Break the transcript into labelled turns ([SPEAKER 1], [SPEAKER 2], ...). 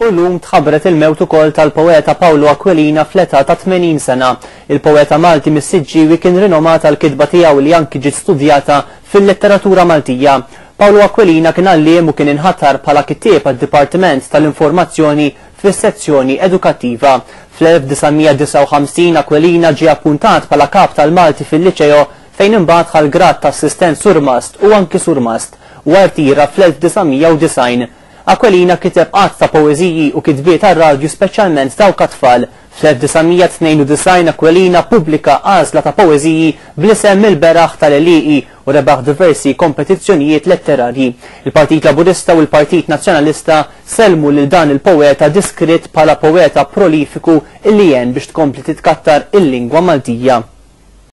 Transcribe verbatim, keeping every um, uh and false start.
[SPEAKER 1] U llum tħabbret il-mewt ukoll tal-poeta Pawlu Aquilina fl-età ta' tmenin sena. Il-poeta Malti mis-Siġġiewi kien rinomat għall-kitba tiegħu li anki ġiet studjata fil-letteratura Maltija. Pawlu Aquilina kien għalliem u kien inħatar bħala kittieb għad-Dipartiment tal-Informazzjoni fis-sezzjoni edukattiva. Fl-elf disa' mija disgħa u ħamsin Aquilina ġie appuntat bħala kap tal-Malti fil-Liċeo fejn imbagħad ħa l-grad ta' assistent surmast u anki surmast u rtira fl-elf disa' mija u disgħin. Aquilina kiteb għadd ta' poeżiji u kitbiet għar-radju, speċjalment dawk għat-tfal. Fl-elf disa' mija tnejn u disgħin Aquilina ppubblika għażla ta' poeżiji bl-isem Il-Beraħ tal-Għelieqi u rebaħ diversi kompetizzjonijiet letterarji. Il-Partit Laburista u l-Partit Nazzjonalista sellmu lil dan il-poeta diskrit bħala poeta prolifiku illi għen biex tkompli titkattar il-lingwa Maltija.